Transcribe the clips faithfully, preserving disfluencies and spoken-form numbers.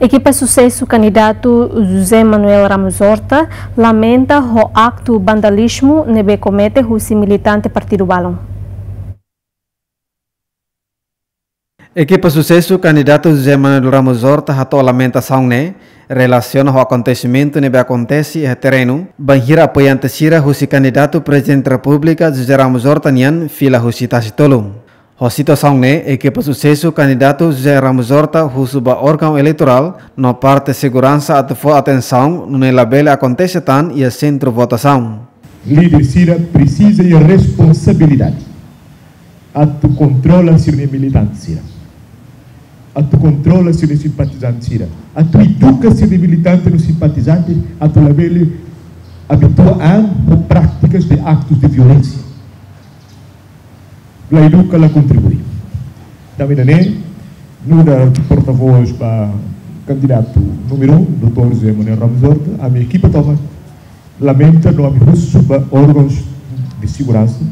Ekipa susesu kandidatu José Manuel Ramos Horta lamenta ho aktu vandalizmu ne'ebé komete husi militante partidu balun. Ekipa susesu kandidatu José Manuel Ramos Horta hato'o lamentasaun ne'e relasiona ho akontesimentu ne'ebé akontese iha terrenu, bainhira apoiante sira husi kandidatu Prezidente Repúblika José Ramos Horta nian fila husi tasi tolu. Ho situasaun ne'e, ekipa susesu kandidatu José Ramos Horta husu ba órgaun eleitorál no parte seguransa atu fó atensaun nune'e labele akontese tan iha sentru votasaun. Líder sira presiza iha responsabilidade atu kontrola sira-nia militante sira, atu kontrola sira-nia simpatizante sira, atu eduka sira-nia militante no simpatizante atu labele abitua an ho práticas de actos de violência. La eduka, la kontribui. Tanba ida-ne'e, nu'udar portavós ba kandidatu númeru um, doutór José Manuel Ramos Horta, ami ekipa tomak lamenta no ami husu ba órgãos de segurança,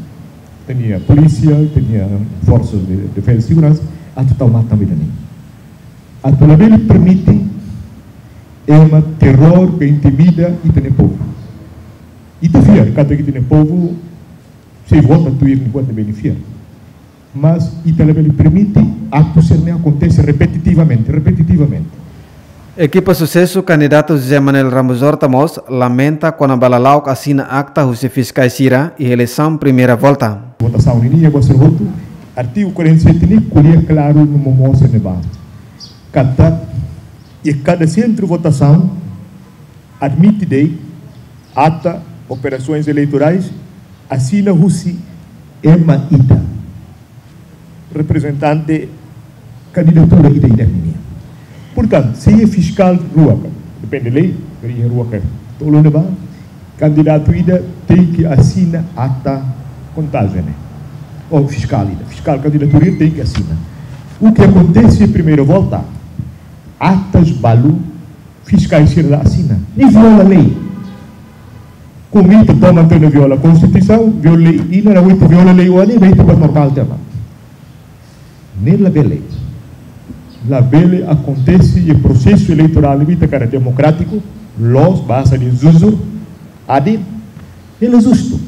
ita-nia polísia, ita-nia forças de defesa e segurança, atu tau matan ba ida-ne'e. Atu labele permite ema terror ka intimida ita-nia povu. Ita fiar katak ita-nia povu sei vota tuir nia buat ne'ebé nia fiar. Mas ita labele permite aktu sira-ne'e akontese repetitivamente, repetitivamente. Ekipa susesu kandidatu José Manuel Ramos Horta mós lamenta kona-ba lala'ok asina akta husi fiskais sira iha eleisaun primeira volta. Votasaun ninian, ba sira hotu, artigu quarenta e sete ne'e ko'alia klaru no momoos ne'ebá katak iha kada sentru votasaun admite de'it ata operações eleitorais asina husi ema ida, reprezentante kandidatura ida-idak ninian. Portantu, se iha fiskál rua ka, depende lei, karik iha rua ka tolu ne'ebá, kandidatu ida tenke asina ata kontajen ne'e. Ou fiskál ida, fiskál kandidatura ida tenke asina. O que acontece primeira volta, atas balu, fiskais sira la asina. Ne'e viola lei. Komu ita toman tiha ona viola Konstituisaun, viola lei, i na ita viola lei oan ne'e, ba ita buat normál tiha ona. Ne'e labele. Labele akontese iha prosesu eleitorál ne'ebé ita hakarak demokrátiku, loos, bazeia iha júri, adil, ne'e la justu.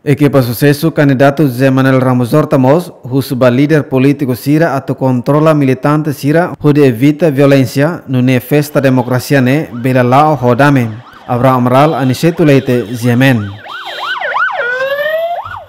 Ekipa susesu kandidatu José Manuel Ramos Horta mós husu ba líder polítiku sira atu kontrola militante sira hodi evita violénsia, nune'e festa demokrasia ne'e bele la'o ho dame. Abraham Amaral, Aniceto Leite, G M N.